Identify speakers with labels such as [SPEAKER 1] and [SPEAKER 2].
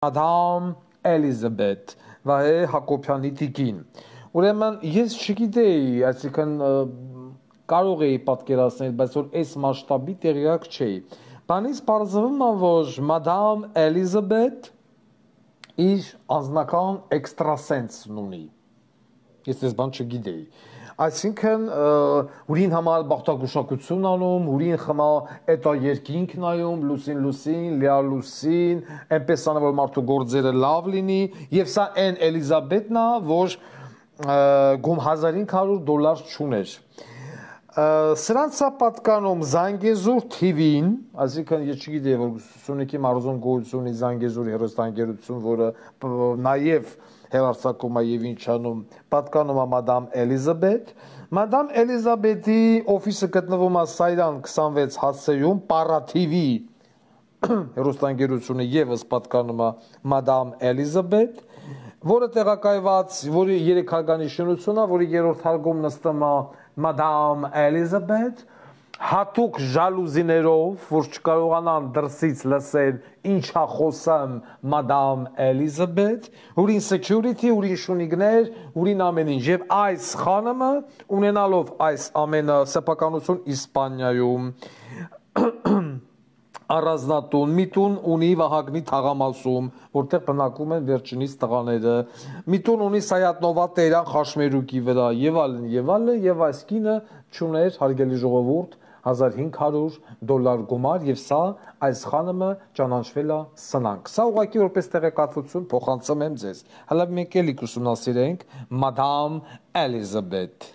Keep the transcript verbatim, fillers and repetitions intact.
[SPEAKER 1] Madame Elizabeth, Վահե Հակոբյանի տիկին։ Ուրեմն ես չգիտեի, այսինքն կարող էի պատկերացնել, բայց որ այս մասշտաբի տեղյակ չէի։ Բանից պարզվում է, որ Madame Elizabeth իր անձնական էքստրասենսն ունի։ Ես այս բան չգիտեի։ Այսինքն ուրին համար բախտագուշակություն անում, ուրին խմա էտա երկինք նայում, լուսին լուսին, լիա լուսին, այնպես անը որ մարդու գործերը լավ լինի, եւ սա այն Էլիզաբեթն է, որ գում հազար հինգ հարյուր դոլար չուներ։ Սրանց է պատկանում Զանգեզուր թի վին, այսինքն ես չգիտեի, որ Սյունիքի մարզում գոյություն ունի Զանգեզուր հեռուստաընկերություն, որը նաև հեռարձակում է եւ ինչանում, պատկանում է Madame Elizabeth։ Madame Elizabeth-ի օֆիսը գտնվում է Սայրան քսանվեց հացեյում, Պարա թի վի հեռուստաընկերությունը եւս պատկանում է Madame Elizabeth, որը տեղակայված, որի երեք հարգանի շինություն է, որի երրորդ հարգում նստում է Madame Elizabeth, հատուկ ժալուզիներով, որ չկարողանան դրսից լսել ինչ է խոսում Madame Elizabeth, ուրին security, ուրին շունիկներ, ուրին ամեն ինչ։ Եվ այս խանամը ունենալով այս ամենը սեփականություն Իսպանիայում առանձնատուն, մի տուն ունի Վահագնի թաղամասում, որտեղ բնակվում են վերջինիս տղաները, մի տուն ունի Սայաթնովա Տերյան Խաշմերուկի վրա, եւ այլն, եւ այլն, եւ այս կինը չուներ, հարգելի ժողովուրդ, հազար հինգ հարյուր դոլար գումար, եւ սա այս խանամը ճանաչվել է սնանկ։ Սա ուղղակի որպես տեղեկատվություն փոխանցում եմ ձեզ։ Հələ մենք էլի կուսումնասիրենք Madame Elizabeth։